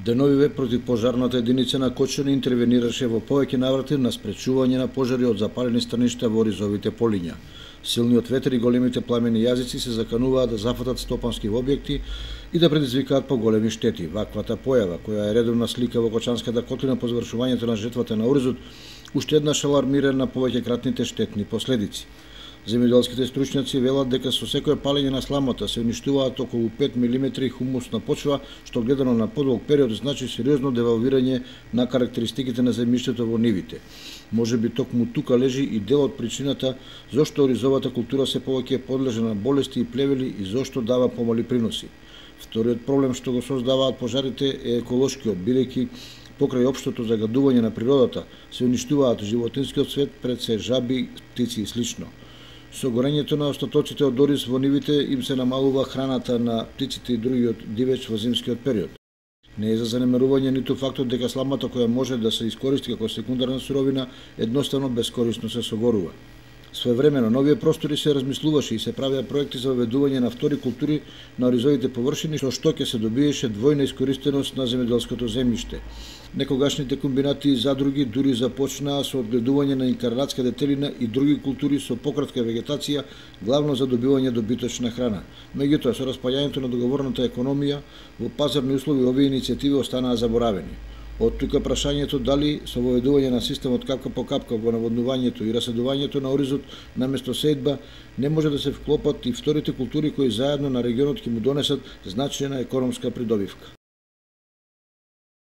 Деновиве противпожарната единица на Кочани интервенираше во повеќе наврати на спречување на пожари од запалени станишта во ризовите полиња. Силниот ветер и големите пламени јазици се закануваат да зафатат стопански објекти и да предизвикаат поголеми штети. Ваквата појава, која е редовна слика во Кочанската котлина по завршувањето на жетвата на оризот, уште еднаш алармира на повеќекратните штетни последици. Земјоделските стручњаци велат дека со секое палење на сламата се уништуваат околу 5 мм хумусна почва, што гледано на подолг период значи сериозно девалвирање на карактеристиките на земјиштето во нивите. Може би токму тука лежи и дел од причината зошто оризовата култура се повеќе подлежа на болести и плевели и зошто дава помали приноси. Вториот проблем што го создаваат пожарите е еколошкиот, бидејќи покрај општото загадување на природата се уништуваат животинскиот свет, пред се жаби, птици и слично. Со горењето на остатоците од ориз во нивите им се намалува храната на птиците и другиот дивеч во зимскиот период. Не е за занемарување ниту фактот дека сламата која може да се искористи како секундарна суровина едноставно бескорисно се согорува. Своевремено на овие простори се размислуваше и се правеа проекти за воведување на втори култури на оризовите површини, што ќе се добиеше двојна искористеност на земјоделското земјиште. Некогашните комбинати и задруги дури започнаа со одгледување на инкарнатска детелина и други култури со пократка вегетација, главно за добивање добиточна храна. Меѓутоа, со распаѓањето на договорната економија, во пазарни услови овие иницијативи останаа заборавени. Од тука прашањето дали со воведување на системот капка по капка во наводнувањето и раседувањето на оризот наместо сејдба не може да се вклопат и вторите култури кои заедно на регионот ќе му донесат значајна економска придобивка.